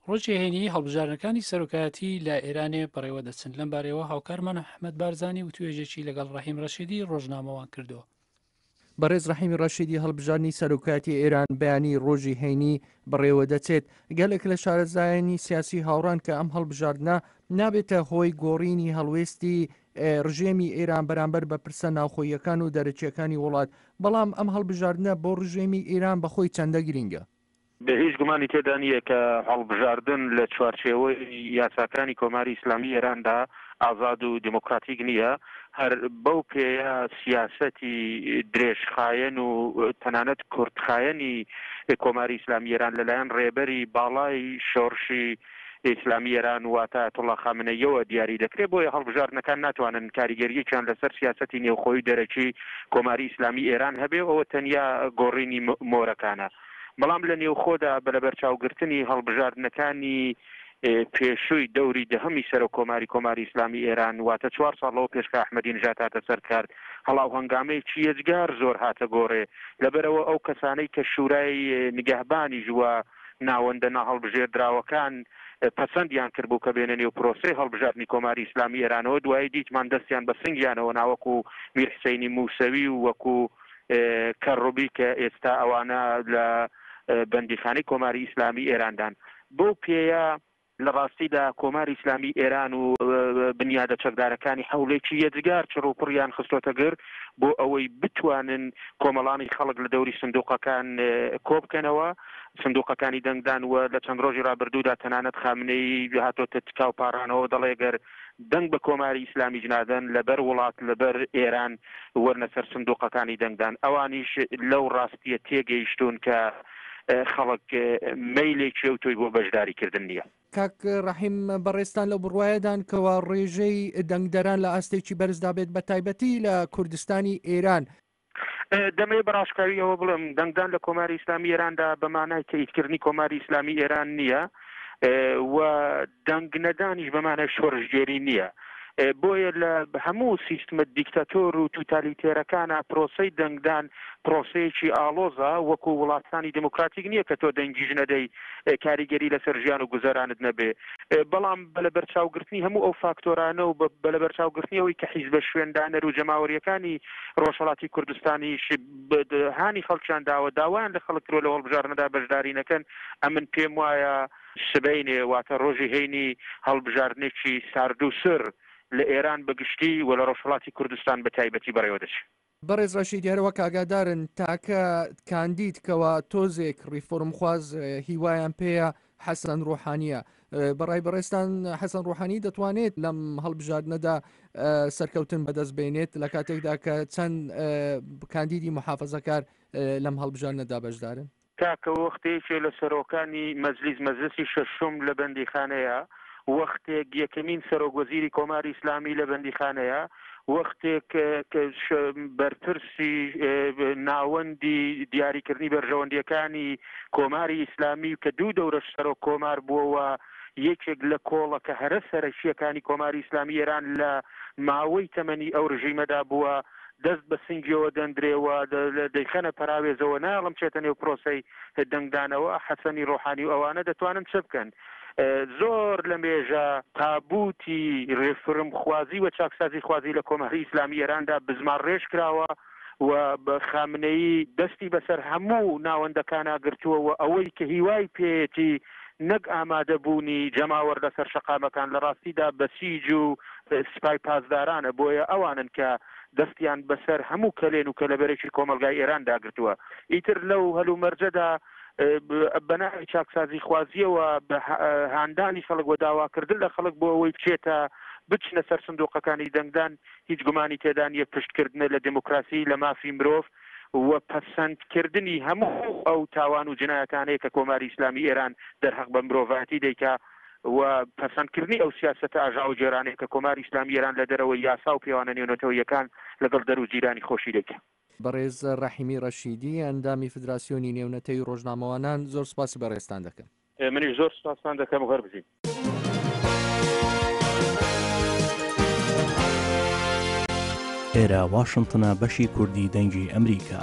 ڕۆژی هەینی هەڵبژاردنەکانی سەرۆکایەتی لە ئێرانێ بەڕێوە دەچن. لەم بارەیەوە هاوکارمان ئەحمەد بارزانی وتوێژێکی لەگەڵ ڕەحیم ڕەشیدی ڕۆژنامەوان کردووە. بەڕێز ڕەحیم ڕەشیدی هەڵبژاردنی سەرۆکایەتی ئێران بەیانی ڕۆژی هەینی بەڕێوەدەچێت. گەلێک لە شارەزایانی سیاسی هاوڕان کە ئەم هەڵبژاردنە نابێتە هۆی گۆڕینی هەڵوێستی ڕژێمی ئێران بەرامبەر بە پرسە ناوخۆییەکان و دەرەکییەکانی وڵات، بەڵام ئەم هەڵبژاردنە بۆ ڕژێمی ئێران بەخۆی چەندە گرینگە؟ هیچ گومانی تێدا نییە کە هەڵبژاردن لە چوارچێوەی یاساکانی کۆماری ئیسلامی ئێراندا ئازاد و دێمۆکراتیک نییە، هەر بەو پێیە سیاسەتی درێژخایەن و تەنانەت کورتخایەنی کۆماری ئیسلامی ئێران لەلایەن ڕێبەری باڵای شۆڕشی ئیسلامی ئێران واتە ئایەتوڵڵا خامنەییەوە دیاری دەکرێ، بۆیە هەڵبژاردنەکان ناتوانن کاریگەرییەکیان لەسەر سیاسەتی نێوخۆیی و دەرەکی کۆماری ئیسلامی ئێران هەبێ و ئەوە تەنیا گۆڕینی مۆرەکانە. بەڵام لە نێوخۆدا بە لەبەرچاوگرتنی هەڵبژاردنەکانی پێشووی دەوری دەهەمی سەرۆک کۆماری کۆماری ئیسلامی ئێران واتە چوار ساڵ لەوە پێش کە ئەحمەدی نژاد هاتە سەر کار هەڵاوهەنگامەیەکی یەجگار زۆر هاتە گۆڕێ لەبەرئەوە ئەو کەسانەی کە شورای نگەهبانیش و ناوەندە ناهەڵبژێردراوەکان پەسەندیان کردبوو کە بێنە نێو پرۆسەی هەڵبژاردنی کۆماری ئیسلامی ئێرانەوە دوایی دیتمان دەستیان بە سنگیانەوە نا وەکوو میر حسەینی موسەوی و وەکوو کەڕوبی کە ئێستا ئەوانە لە بەندیخانەی کۆماری ئیسلامی ئێراندان. بەو پێیە لە ڕاستیدا کۆماری ئیسلامی ئێران و بنیادە چەکدارەکانی حەولێکی یەجگار چڕوپڕیان خستۆتە گر بۆ ئەوەی بتوانن کۆمەڵانی خەڵک لە دەوری سندوقەکان کۆبکەنەوە، سندوقەکانی دەنگدان و لە چەند ڕۆژی ڕابردوودا تەنانەت خامنەیی هاتۆتە تکا و پاڕانەوە دەڵێ گەر دەنگ بە کۆماری ئیسلامیش نادەن لەبەر وڵات لەبەر ئێران وەرنە سەر سندوقەکانی دەنگدان ئەوانیش لەو ڕاستیە تێگەیشتوون کە خەڵک مەیلێکی ئەوتۆی بۆ بەشداری کردن نییە. کاک ڕەحیم بەڕێزتان لەو بڕوایەدان کەوا ڕێژەی دەنگدەران لە ئاستێکی بەرزدا بێت بە تایبەتی لە کوردستانی ئێران؟ دەمەوێت بە ڕاشکاوی ئەوە بڵێم دەنگدان لە کۆماری ئیسلامی ئێراندا بە مانای تەئیدکردنی کۆماری ئیسلامی ئێران نییە و دەنگ نەدانیش بە مانای شۆڕشگێری نییە. بۆیە لە هەموو سیستمە دیکتاتۆر و توتالیتێرەکانا پرۆسەی دەنگدان پرۆسەیەکی ئاڵۆزە، وەکو وڵاتانی دیموکراتیک نییە کە تۆ دەنگیش نەدەی کاریگەری لەسەر ژیان و گوزەرانت نەبێ. بەڵام بە لەبەرچاوگرتنی هەموو ئەو فاکتۆرانە و بە لەبەرچاوگرتنی ئەوەی کە حیزبە شوێندانەر و جەماوەرییەکانی ڕۆژهەڵاتی کوردستانیش هانی خەڵکیان داوە، داوایان لە خەڵک کردووە لەو هەڵبژاردنەدا بەشداری نەکەن، ئەمن پێم وایە سبەینێ واتە ڕۆژی هەینی هەڵبژاردنێکی ساردوسڕ لە ئێران بە گشتی و لە ڕۆژهەڵاتی کوردستان بە تایبەتی بەڕێوە دەچێ. بەڕێز ڕەشیدی هەر وەک ئاگادارن تاکە کاندید کەوا تۆزێک ڕیفۆرمخواز هیوایان پێیە حەسەن ڕۆحانیە بەڕای بەڕێزتان حەسەن ڕۆحانی دەتوانێت لەم هەڵبژاردنەدا سەرکەوتن بەدەست بێنێت لە کاتێکدا کە چەند کاندیدی محافزەکار لەم هەڵبژاردنەدا بەشدارن؟ کاکە وەختێ یەکێ لە سەرۆکانی مەجلیس، مەجلسی شەشوم، لە بەندیخانەیە، وەختێک یەکەمین سەرۆک وەزیری کۆماری ئیسلامی لە بەندیخانەیە، وەختێک بەرپرسی ناوەندی دیاریکردنی بەرژەوەندییەکانی کۆماری ئیسلامی کە دوو دەورەش سەرۆک کۆمار بووە و یەکێک لە کۆڵەکە هەرە سەرەکییەکانی کۆماری ئیسلامی ئێران لە ماوەی تەمەنی ئەو رژیمەدا بووە، دەست بە سنگیەوە دەندرێ و دەیخەنە پەراوێزەوە، نایەڵم بچێتە نێو پرۆسەی دەنگدانەوە، حەسەنی ڕۆحانی و ئەوانە دەتوانن چ بکەن؟ زۆر لە مێژە تابووتی ڕێفرمخوازی و چاکسازیخوازی لە کۆماری ئیسلامی ئێراندا بزمارڕێژ کراوە و خامنەیی دەستی بەسەر هەموو ناوەندەکانا گرتووە و ئەوەی کە هیوای پێیەتی نەک ئامادە بوونی جەماوەر لەسەر شەقامەکان لە ڕاستیدا بەسیج و سپای پاسدارانە بۆیە ئەوانن کە دەستیان بەسەر هەموو کەلێن و کەلەبەرێکی کۆمەڵگای ئێران داگرتووە ئیتر لەو هەلومەرجەدا بە ناوی چاکسازیخوازییەوە بە هاندانی خەڵک و داواکردن لە خەڵک بۆ ئەوەی بچێتە بچنە سەر سندوقەکانی دەنگدان هیچ گومانی تێدا نییە پشتکردنە لە دێموکراسی لە مافی مرۆڤ و پەسەندکردنی هەموو ئەو تاوان و جنایەتانەیە کە کۆماری ئیسلامی ئێران دەرهەق بە مرۆڤایەتی دەیکا و پەسەندکردنی ئەو سیاسەتە ئاژاوەگێرانەیە کە کۆماری ئیسلامی ئێران لە دەرەوەی یاسا و پێوانە نێونەتەوەییەکان لەگەڵ دەر و جیرانی خۆشی دەیکا. بەڕێز ڕەحیمی ڕەشیدی، ئەندامی فدراسیۆنی نێونەتەوی ڕۆژنامەوانان، زۆر سپاسی بەڕێزتان دەکەم. منیش زۆر سپاستان دەکەم و هەر بژین. ئێرە واشنتنە بەشی کوردی دەنگی ئەمریکا.